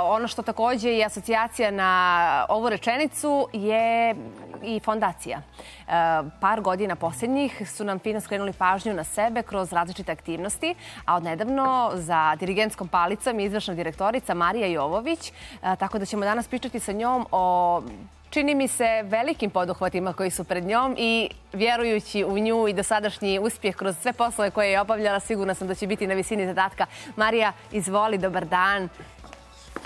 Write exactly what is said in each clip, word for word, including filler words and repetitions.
Ono što također je asocijacija na ovu rečenicu je i fondacija. Par godina posljednjih su nam fino skrenuli pažnju na sebe kroz različite aktivnosti, a odnedavno za dirigentskom palicom je izvršna direktorica Marija Jovović, tako da ćemo danas pričati sa njom o, čini mi se, velikim poduhvatima koji su pred njom i vjerujući u nju i dosadašnji uspjeh kroz sve poslove koje je obavljala, sigurna sam da će biti na visini zadatka. Marija, izvoli, dobar dan.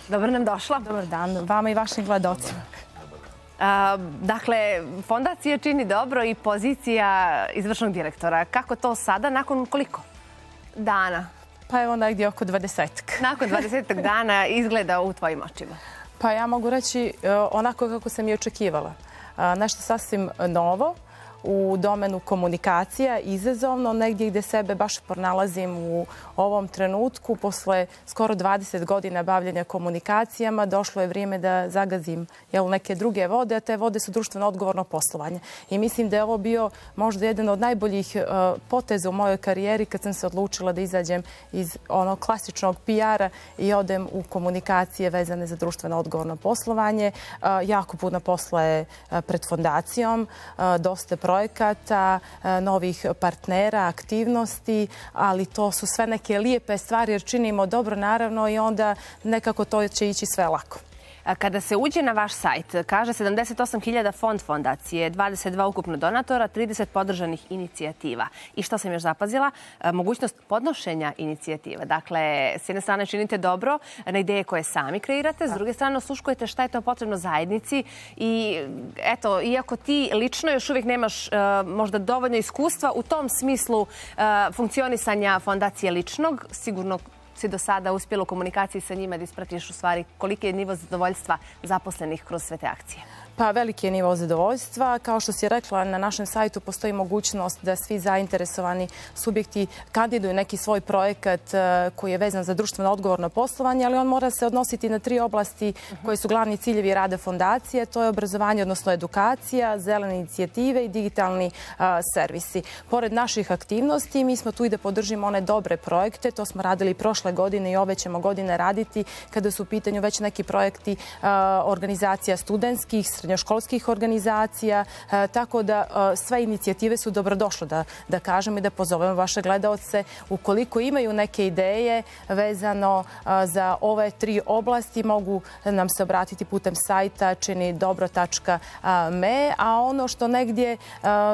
Dobro nam došla. Dobar dan, vama i vašim gledocima. Dakle, fondacija čini dobro i pozicija izvršnog direktora. Kako to sada, nakon koliko dana? Pa evo negdje oko dvadesetak. Nakon dvadesetak dana izgleda u tvojim očima? Pa ja mogu reći onako kako sam i očekivala. Nešto sasvim novo, u domenu komunikacija, izazovno, negdje gdje sebe baš pronalazim u ovom trenutku. Posle skoro dvadeset godina bavljenja komunikacijama došlo je vrijeme da zagazim neke druge vode, a te vode su društveno odgovorno poslovanje. I mislim da je ovo bio možda jedan od najboljih poteza u mojoj karijeri kad sam se odlučila da izađem iz onog klasičnog P R-a i odem u komunikacije vezane za društveno odgovorno poslovanje. Jako puno posla je pred fondacijom, dosta projekata, novih partnera, aktivnosti, ali to su sve neke lijepe stvari jer činimo dobro naravno i onda nekako to će ići sve lako. Kada se uđe na vaš sajt, kaže sedamdeset osam hiljada fond fondacije, dvadeset dva ukupno donatora, trideset podržanih inicijativa. I što sam još zapazila? Mogućnost podnošenja inicijativa. Dakle, s jedne strane činite dobro na ideje koje sami kreirate, s druge strane osluškujete šta je to potrebno zajednici i eto, iako ti lično još uvijek nemaš možda dovoljno iskustva u tom smislu funkcionisanja fondacije ličnog, sigurno si do sada uspjela u komunikaciji sa njima da ispratiš u stvari koliki je nivo zadovoljstva zaposlenih kroz sve te akcije? Pa veliki je nivo zadovoljstva. Kao što si rekla, na našem sajtu postoji mogućnost da svi zainteresovani subjekti kandiduju neki svoj projekat koji je vezan za društveno odgovorno poslovanje, ali on mora se odnositi na tri oblasti koje su glavni ciljevi rada fondacije. To je obrazovanje, odnosno edukacija, zelene inicijative i digitalni servisi. Pored naših aktivnosti, mi smo tu i da podržimo one dobre projekte. To smo radili prošle godine i ove ćemo godine raditi kada su u pitanju već neki projekti organizacija studentskih, srednjoškolskih organizacija, tako da sve inicijative su dobrodošle, da, da kažem i da pozovemo vaše gledaoce. Ukoliko imaju neke ideje vezano za ove tri oblasti, mogu nam se obratiti putem sajta čini dobro tačka me, a ono što negdje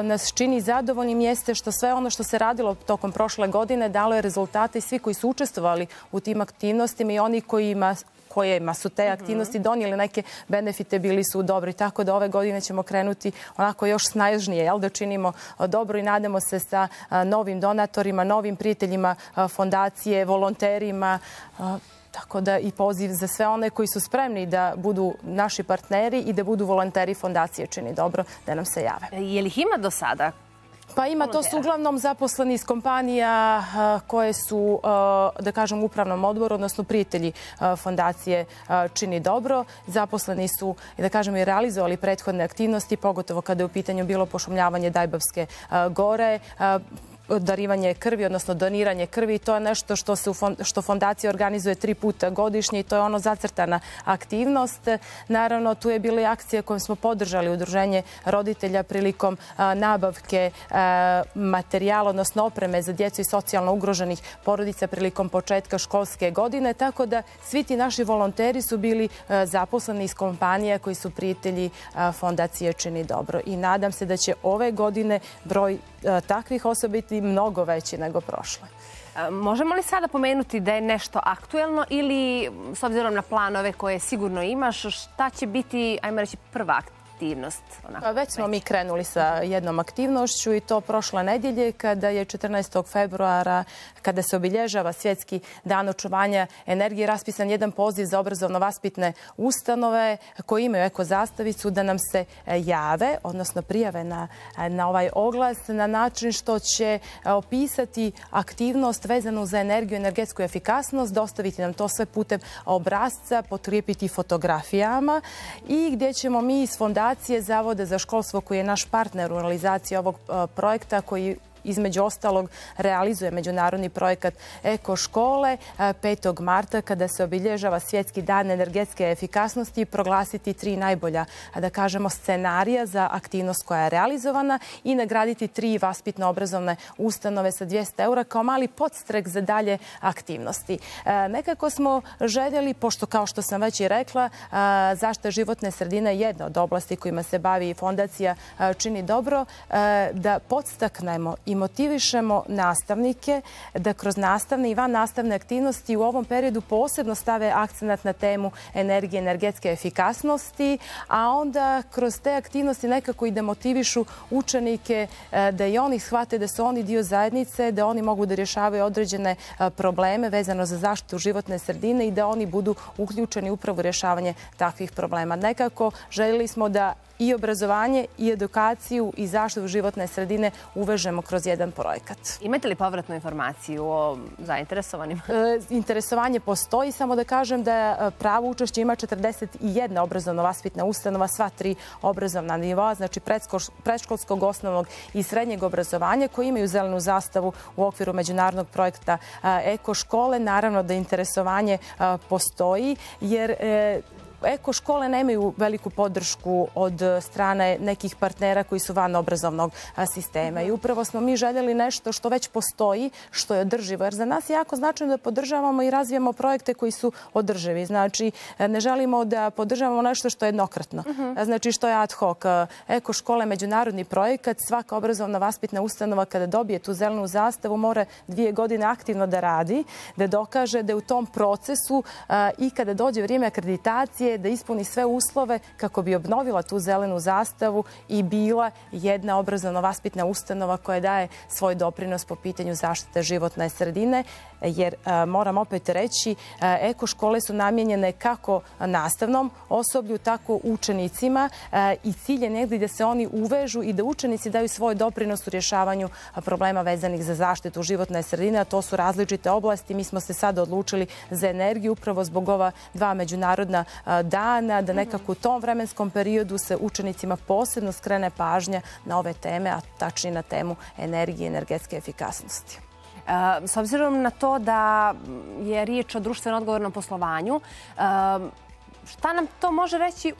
nas čini zadovoljnim jeste što sve ono što se radilo tokom prošle godine dalo je rezultate i svi koji su učestvovali u tim aktivnostima i oni kojima kojima su te aktivnosti donijeli neke benefite, bili su dobri. Tako da ove godine ćemo krenuti onako još snažnije, jel, da činimo dobro i nadamo se sa novim donatorima, novim prijateljima fondacije, volonterima. Tako da i poziv za sve one koji su spremni da budu naši partneri i da budu volonteri fondacije čini dobro, da nam se jave. Je li ih ima do sada? Pa ima, to su uglavnom zaposleni iz kompanija koje su, da kažem, u upravnom odboru, odnosno prijatelji fondacije čini dobro. Zaposleni su, da kažem, i realizovali prethodne aktivnosti, pogotovo kada je u pitanju bilo pošumljavanje Dajbavske gore, darivanje krvi, odnosno doniranje krvi. To je nešto što, se što fondacija organizuje tri puta godišnje i to je ono zacrtana aktivnost. Naravno, tu je bila i akcija kojom smo podržali udruženje roditelja prilikom nabavke materijala, odnosno opreme za djecu i socijalno ugroženih porodica prilikom početka školske godine. Tako da svi ti naši volonteri su bili zaposleni iz kompanija koji su prijatelji fondacije čini dobro. I nadam se da će ove godine broj takvih osoba biti mnogo veći nego prošle. Možemo li sada pomenuti da je nešto aktuelno ili, s obzirom na planove koje sigurno imaš, šta će biti, ajmo reći, prva aktivnost? Već smo mi krenuli sa jednom aktivnošću i to prošle nedjelje kada je četrnaestog februara, kada se obilježava Svjetski dan očuvanja energije, raspisan jedan poziv za obrazovno-vaspitne ustanove koji imaju eko zastavicu da nam se jave, odnosno prijave na, na ovaj oglas na način što će opisati aktivnost vezanu za energiju i energetsku efikasnost, dostaviti nam to sve putem obrasca, potkrijepiti fotografijama i gdje ćemo mi iz fondacije Zavoda za školstvo koji je naš partner u realizaciji ovog projekta koji između ostalog realizuje međunarodni projekat Eko škole petog marta kada se obilježava Svjetski dan energetske efikasnosti i proglasiti tri najbolja, da kažemo, scenarija za aktivnost koja je realizovana i nagraditi tri vaspitno-obrazovne ustanove sa dvjesto eura kao mali podstrek za dalje aktivnosti. Nekako smo željeli, pošto kao što sam već i rekla, zaštita životne sredine je jedna od oblasti kojima se bavi Fondacija Čini dobro, da podstaknemo i motivišemo nastavnike da kroz nastavne i van nastavne aktivnosti u ovom periodu posebno stave akcenat na temu energije, energetske efikasnosti, a onda kroz te aktivnosti nekako i da motivišu učenike da i oni shvate da su oni dio zajednice, da oni mogu da rješavaju određene probleme vezano za zaštitu životne sredine i da oni budu uključeni upravo u rješavanje takvih problema. Nekako željeli smo da i obrazovanje, i edukaciju, i zaštitu životne sredine uvežemo kroz jedan projekat. Imate li povratnu informaciju o zainteresovanim? Interesovanje postoji, samo da kažem da pravo učešće ima četrdeset jedna obrazovno-vaspitna ustanova, sva tri obrazovna nivoa, znači predškolskog, osnovnog i srednjeg obrazovanja, koji imaju zelenu zastavu u okviru međunarodnog projekta Eko škole. Naravno da interesovanje postoji, jer Eko škole nemaju veliku podršku od strane nekih partnera koji su van obrazovnog sistema. I upravo smo mi željeli nešto što već postoji, što je održivo. Jer za nas je jako značajno da podržavamo i razvijamo projekte koji su održivi. Znači, ne želimo da podržavamo nešto što je jednokratno. Znači, što je ad hoc. Eko škole je međunarodni projekat. Svaka obrazovna vaspitna ustanova kada dobije tu zelenu zastavu mora dvije godine aktivno da radi, da dokaže da je u tom procesu i kada dođe vrijeme akreditacije da ispuni sve uslove kako bi obnovila tu zelenu zastavu i bila jedna obrazovno-vaspitna ustanova koja daje svoj doprinos po pitanju zaštite životne sredine, jer moram opet reći, eko škole su namijenjene kako nastavnom osoblju, tako učenicima i cilj je negdje da se oni uvežu i da učenici daju svoj doprinos u rješavanju problema vezanih za zaštitu životne sredine, a to su različite oblasti. Mi smo se sad odlučili za energiju upravo zbog ova dva međunarodna dana, da nekako u tom vremenskom periodu se učenicima posebno skrene pažnja na ove teme, a tačnije na temu energije i energetske efikasnosti. S obzirom na to da je riječ o društveno odgovornom poslovanju, šta nam to može reći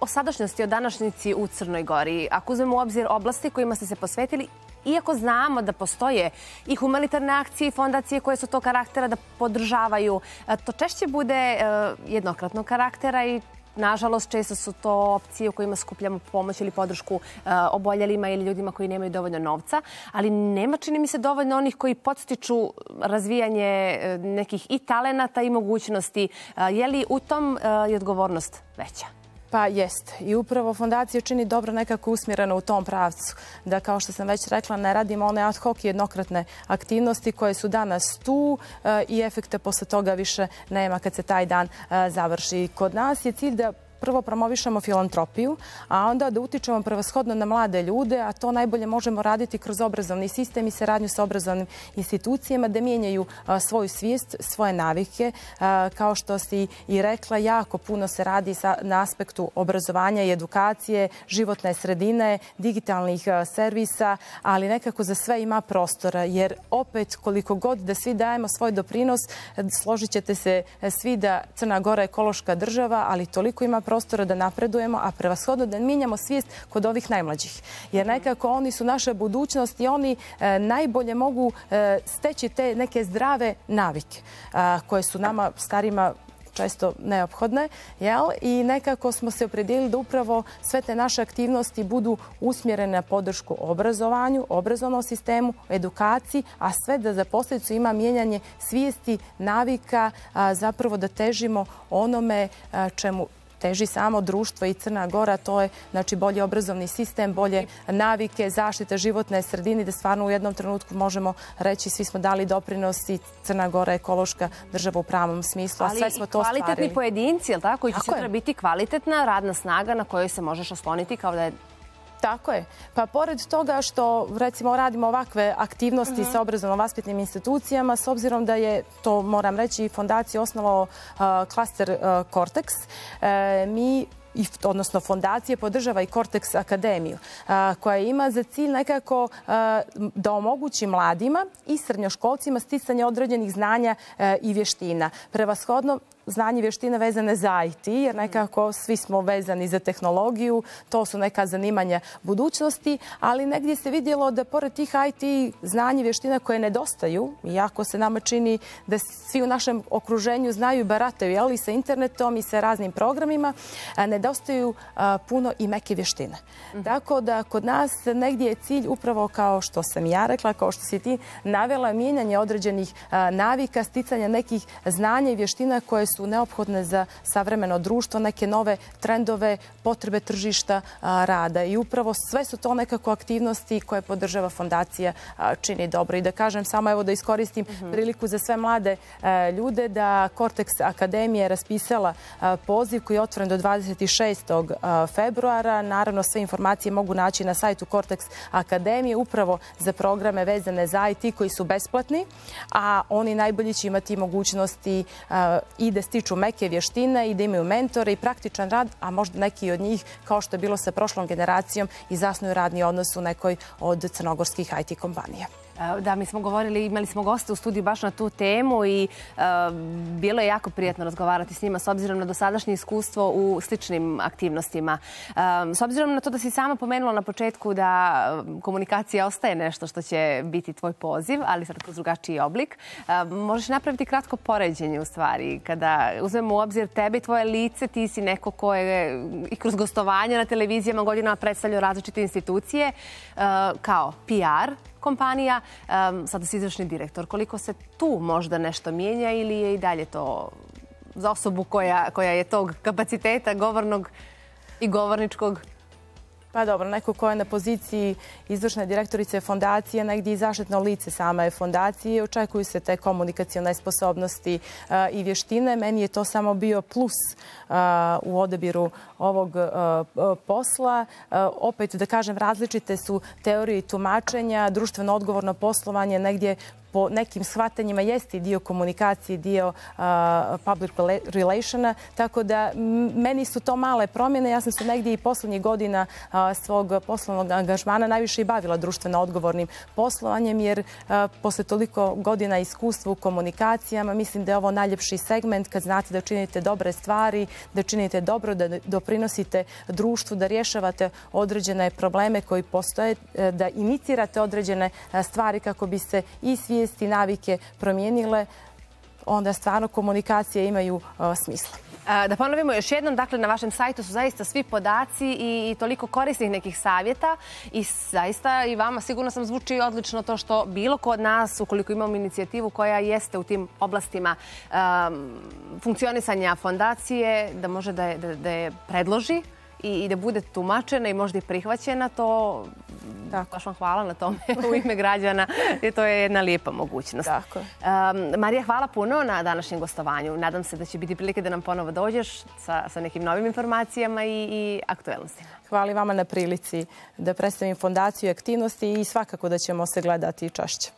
o sadašnjosti, o današnjici u Crnoj Gori? Ako uzmemo u obzir oblasti kojima ste se posvetili, iako znamo da postoje i humanitarne akcije i fondacije koje su to karaktera da podržavaju, to češće bude jednokratnog karaktera i nažalost često su to opcije u kojima skupljamo pomoć ili podršku oboljelima ili ljudima koji nemaju dovoljno novca, ali nema, čini mi se, dovoljno onih koji podstiču razvijanje nekih i talenata i mogućnosti. Je li u tom je odgovornost veća? Pa jest. I upravo Fondacija Čini dobro nekako usmjerena u tom pravcu. Da, kao što sam već rekla, ne radimo one ad hoc i jednokratne aktivnosti koje su danas tu i efekta posle toga više nema kad se taj dan završi. Kod nas je cilj da prvo promovišemo filantropiju, a onda da utičemo prevashodno na mlade ljude, a to najbolje možemo raditi kroz obrazovni sistem i saradnju sa obrazovnim institucijama, da mijenjaju svoju svijest, svoje navike. Kao što si i rekla, jako puno se radi na aspektu obrazovanja i edukacije, životne sredine, digitalnih servisa, ali nekako za sve ima prostora, jer opet koliko god da svi dajemo svoj doprinos, složit ćete se svi da Crna Gora je ekološka država, ali toliko ima prostora da napredujemo, a prevashodno da mijenjamo svijest kod ovih najmlađih. Jer nekako oni su naša budućnost i oni najbolje mogu steći te neke zdrave navike koje su nama starima često neophodne, jel? I nekako smo se opredijelili da upravo sve te naše aktivnosti budu usmjerene na podršku obrazovanju, obrazovnom sistemu, edukaciji, a sve da za posljedicu ima mijenjanje svijesti, navika, zapravo da težimo onome čemu teži samo društvo i Crna Gora, to je znači bolji obrazovni sistem, bolje navike, zaštita životne sredine, da stvarno u jednom trenutku možemo reći svi smo dali doprinos i Crna Gora je ekološka država u pravom smislu, a sve smo to ostvarili. Ali kvalitetni pojedinci, jel tako, koji će sutra biti kvalitetna radna snaga na kojoj se možeš osloniti kao da je Tako je. Pa pored toga što, recimo, radimo ovakve aktivnosti sa obrazovno-vaspitnim institucijama, s obzirom da je, to moram reći, fondacija osnovao klaster Cortex, mi odnosno fondacije podržava i Cortex akademiju, koja ima za cilj nekako da omogući mladima i srednjoškolcima sticanje određenih znanja i vještina. Prevashodno znanje i vještine vezane za I T, jer nekako svi smo vezani za tehnologiju, to su neka zanimanja budućnosti, ali negdje se vidjelo da pored tih I T znanja i vještina koje nedostaju, iako se nama čini da svi u našem okruženju znaju i barataju, ali sa internetom i sa raznim programima, nedostaju puno i meke vještine. Tako da kod nas negdje je cilj upravo kao što sam ja rekla, kao što si ti navela, mijenjanje određenih navika, sticanja nekih znanja i vještina koje su su neophodne za savremeno društvo, neke nove trendove, potrebe tržišta rada. I upravo sve su to nekako aktivnosti koje podržava fondacija Čini dobro. I da kažem samo, evo da iskoristim priliku za sve mlade ljude, da Cortex akademija je raspisala poziv koji je otvoren do dvadeset šestog februara. Naravno, sve informacije mogu naći na sajtu Cortex akademije upravo za programe vezane za I T koji su besplatni, a oni najbolji će imati mogućnosti i da stiču meke vještine i da imaju mentore i praktičan rad, a možda neki od njih, kao što je bilo sa prošlom generacijom, i zasnuju radni odnos u nekoj od crnogorskih I T kompanija. Da, mi smo govorili, imali smo goste u studiju baš na tu temu i bilo je jako prijatno razgovarati s njima s obzirom na dosadašnje iskustvo u sličnim aktivnostima. S obzirom na to da si sama pomenula na početku da komunikacija ostaje nešto što će biti tvoj poziv, ali sad kroz drugačiji oblik, možeš napraviti kratko poređenje u stvari. Kada uzmemo u obzir tebe i tvoje lice, ti si neko ko je i kroz gostovanja na televizijama godinama predstavljao različite institucije kao P R kompanija, sada si izvršni direktor. Koliko se tu možda nešto mijenja ili je i dalje to za osobu koja, koja je tog kapaciteta govornog i govorničkog? Pa dobro, neko ko je na poziciji izvršne direktorice fondacije, negdje i zaštitno lice same fondacije, očekuju se te komunikacione sposobnosti i vještine. Meni je to samo bio plus u odabiru ovog posla. Opet, da kažem, različite su teorije i tumačenja, društveno odgovorno poslovanje negdje po nekim shvatanjima jeste i dio komunikacije, dio public relationa, tako da meni su to male promjene. Ja sam se negdje i poslednjih godina svog poslovnog angažmana najviše i bavila društveno odgovornim poslovanjem, jer posle toliko godina iskustva u komunikacijama mislim da je ovo najljepši segment kad znate da činite dobre stvari, da činite dobro, da doprinosite društvu, da rješavate određene probleme koji postoje, da inicirate određene stvari kako bi se i svijesti i navike promijenile, onda stvarno komunikacije imaju smisla. Da ponovimo još jednom, dakle na vašem sajtu su zaista svi podaci i toliko korisnih nekih savjeta i zaista i vama sigurno sam zvuči odlično to što bilo ko od nas, ukoliko imamo inicijativu koja jeste u tim oblastima funkcionisanja fondacije, da može da je predloži i da bude tumačena i možda i prihvaćena, to baš vam hvala na tome u ime građana, jer to je jedna lijepa mogućnost. Marija, hvala puno na današnjem gostovanju. Nadam se da će biti prilike da nam ponovo dođeš sa nekim novim informacijama i aktuelnostima. Hvala i vama na prilici da predstavim fondaciju i aktivnosti i svakako da ćemo se gledati češće.